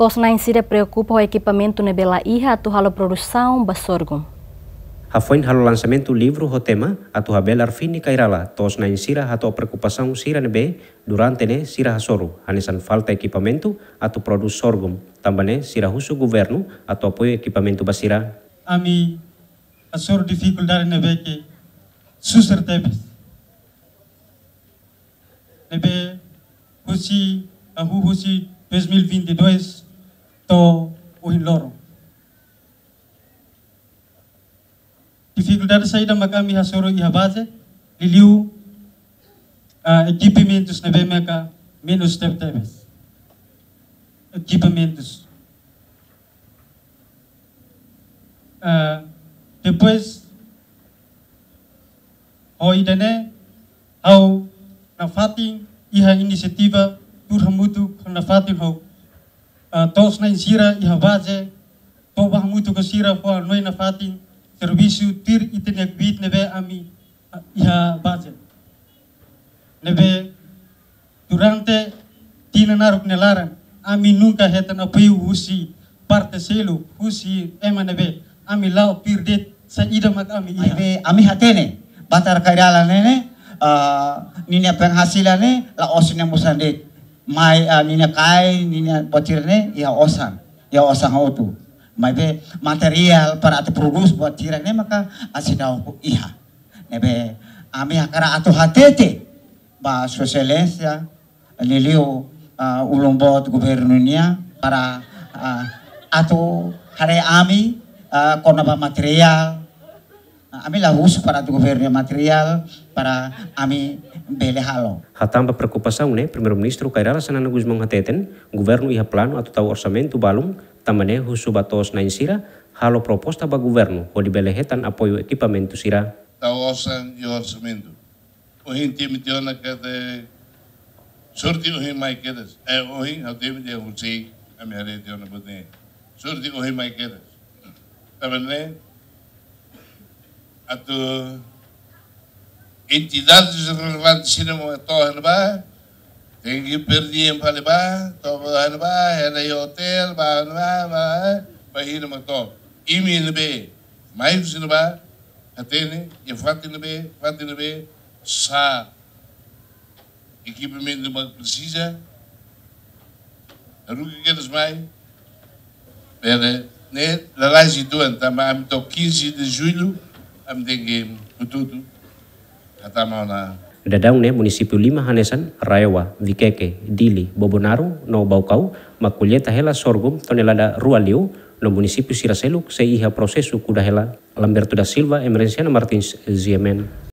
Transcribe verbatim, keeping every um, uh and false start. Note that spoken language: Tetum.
To'os-na'in sira preokupa ho ekipamentu ne'ebé la iha atu halo produsaun ba sorgum. Hafoin halo lansamentu livru ho tema Atu Habelar Fini Kairala, to'os-na'in sira hato'o preokupasaun sira ne'ebé durante ne'e sira hasoru, hanesan falta ekipamentu atu prodús sorgum, tanba ne'e sira husu governu atu apoiu ekipamentu ba sira. Ami hasoru difikuldade ne'ebé ke susar tebes. Ne'ebé husi, hahú husi dois mil e vinte e dois to'o ohin loron. Difikuldade saida mak ami hasoru iha baze, liuliu, ah, ekipamentus ne'ebé maka menus tebetebes. Ekipamentus. Ah, depois, ho ida-ne'e, ha'u nafatin iha inisiativa tuur hamutuk nafatin ho, ah, to'os-na'in sira iha baze, to'o bá hamutuk ho sira fó hanoin nafatin servisu tuir ita-nia kbiit ne'ebé ami, ah, iha baze. Ne'ebé durante tinan naruk nia laran, ami nunka hetan apoiu husi parte seluk, husi ema ne'ebé, ami la'o tuir de'it saida mak ami iha. Maibé ami hatene, Batar Kairala ne'e ne'e, ah, ninia penghasilan ne'e la'ós ne'e mosan de'it. Mai, ah, ninia kai, ninia botir ne'e iha osan, iha osan hotu. Maibé materiál para atu prodús buat sira ne'e maka seidauk iha. Ne'ebé ami hakarak atu hatete ba Sua Exelénsia, liuliu, ah, ulun boot governu nian para, ah, atu haree ami, ah, kona-ba materiál. Ah, ami la husu para atu governu materiál para ami bele halo. Hatán ba preokupasaun ne'e, Primeiru-Ministru Kay Rala Xanana Gusmão hateten, governu iha planu atu tau orsamentu balun, tanba ne'e husu ba to'os-na'in sira halo proposta ba governu hodi bele hetan apoiu ekipamentu sira. Tau osan iha orsamentu. Ohin temi tiha ona katak sorte ohin mai kedas. Eh, ohin ha'u temi tiha husik, ami haree tiha ona buat ne'e. Sorte ohin mai kedas. Tanba ne'e atu entidades relevantes sira mak to'o iha ne'ebá, tenke per diem fali bá, to'o bá iha ne'ebá, hela iha otél, bá iha ne'ebá, bá, bá iha ne'ebá to'o. Imi ne'ebé mai husi ne'ebá, hatene, iha fatin ne'ebé, fatin ne'ebé, sá ekipamentu mak presiza, haruka kedas mai, para ne'e lalais uitoan, tanba ami to'o quinze de julho, ami tenke hotu-hotu hatama ona. Daudaun ne'e munisípiu lima hanesan RAEOA, Viqueque, Dili, Bobonaro, no Baucau, mak kolleita hela sorghum tonelada rua liu, no munisípiu sira seluk sei iha prosesu kuda hela. Lamberto da Silva, Emerenciana Martins, G M N.